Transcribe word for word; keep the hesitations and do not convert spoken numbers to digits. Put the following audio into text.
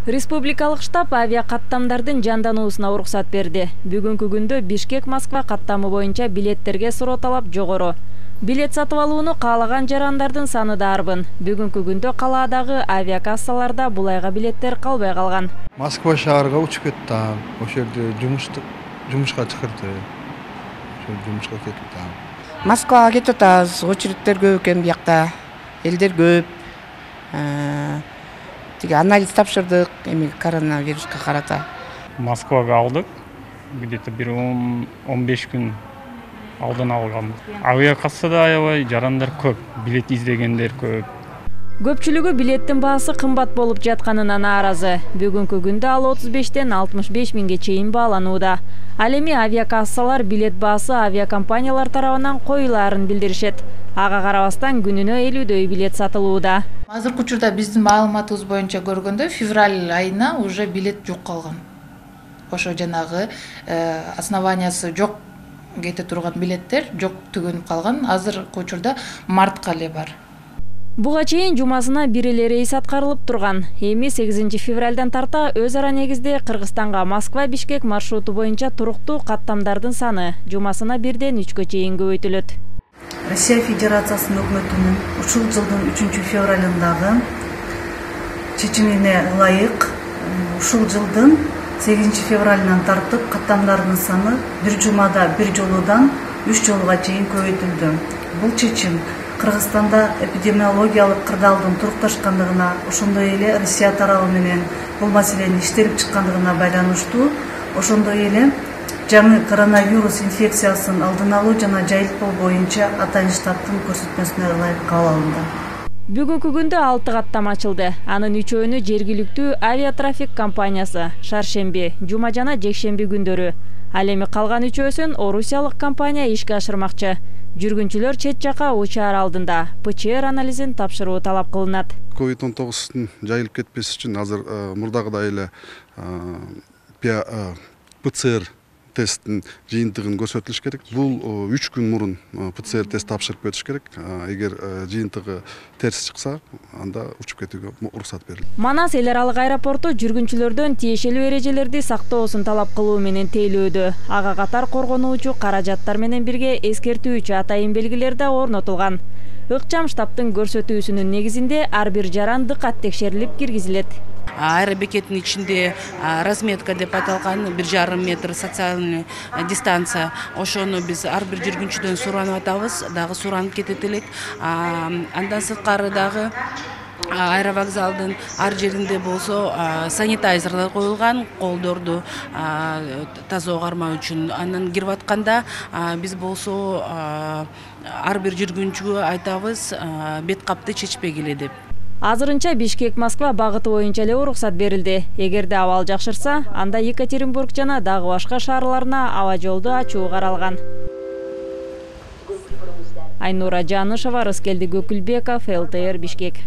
Республикалык штаб авиа каттамдардын жандануусуна уруксат берди. Бүгүнкү күндө Бишкек-Москва каттамы боюнча билеттерге суроо талап жогору. Билет сатып алууну каалаган жарандардын саны да арбын. Бүгүнкү күндө калаадагы авиакассаларда бул айга билеттер калбай калган. Москва шаарга учуп кеттим. Ошол жерде жумушты жумушка чыкырды. Ошол жумушка кеттим. Москвага кетип атабыз. Очередтер көп экен биякта. Элдер көп. Тиги анализ тапшырдык, эми коронавируска карата. Москвага алдык. Где-то бир он беш күн алдан алган. Авиакассада аябай жарандар көп, билет издегендер көп. Көпчүлүгү билеттин баасы кымбат болуп жатканына нааразы. Бүгүнкү күндө ал отуз бештен алтымыш беш миңге чейин бааланууда. Ал эми авиакассалар билет баасы авиакомпаниялар тарабынан коюлаарын билдиришет. Ага карабастан күнүнө элүүдөй билет сатылууда. Азыркы учурда биздин маалыматыбыз боюнча көргөндө февраль айына уже билет жок калган. Ошо жанагы основаниясы жок кете турган билеттер жок түгөнүп калган. Азыркы учурда мартка эле бар. Буга чейин жумасына бир эле рейс аткарылып турган. Эми сегизинчи февралдан тарта өз ара негизде Кыргызстанга Москва-Бишкек маршруту боюнча туруктуу каттамдардын саны жумасына бирден үчкө чейин көбөйтүлөт. Россия Федерациясынын өкмөтүнүн ушул жылдын үчүнчү февралындагы чечимине ылайык ушул жылдын сегизинчи февралынан тартып каттамдардын саны бир жумада бир жолудан үч жолуга чейин көбөйтүлдү. Бул чечим Кыргызстанда эпидемиологиялык кырдаалдын турукташкандыгына, ошондой эле Россия тарабы менен бул маселени иштелип чыккандыгына байланыштуу, ошондой эле жаңы коронавирус инфекциясын алдын алуу жана жайылтпоо боюнча атайын штабтын көрсөтмөсүнө ылайык кабыл алынды. Бүгүнкү күндө алты каттама ачылды. Анын үчөөнү жергиликтүү авиатрафик компаниясы шаршемби, жума жана жекшемби күндөрү. Ал эми калган үчөөсүн орусиялык компания ишке ашырмакчы. Жүргүнчүлөр чет жака учаар алдында ПЧР анализин тапшыруу талап кылынат. ковид он тогуздун жайылып кетпеш үчүн азыр мурдагыдай эле ПЦР тесттин жыйынтыгын көрсөтүлүш керек. Бул үч күн мурун ПЦР тест тапшырып кетиш керек. Эгер жыйынтыгы терс чыкса, анда учуп кетүүгө уруксат берилет. Манас эл аралык аэропорту жүргүнчүлөрдөн тиешелүү эрежелерди сактоосун талап кылуу менен тейлөөдө. Ага катар коргонуучу каражаттар менен бирге эскертүүчү атайын белгилер да орнотулган. Ыкчам штабтын көрсөтүүсүнүн негизинде ар бир жаран дыкат текшерилип киргизилет. Аэробекеттин ичинде разметка деп аталган бир жарым метр социальный дистанция. Ошону биз ар бир жүргүнчүдөн суранып атабыз, дагы суранып кетет элек. Андан сырткары дагы аэровокзалдын ар жеринде болсо санитайзерлер коюлган, колдорду таза огармоо үчүн. Андан кирип атканда биз болсо ар бир жүргүнчүгө айтабыз бет капты чечпегиле деп. Азырынча Бишкек-Москва багыты боюнча эле уруксат берилди. Эгерде абал жакшырса, анда Екатеринбург жана дагы башка шаарларына аба жолду ачуу каралган. Айнура Жанышева, Рыскелди Көкүлбеков, эл тэ эр Бишкек.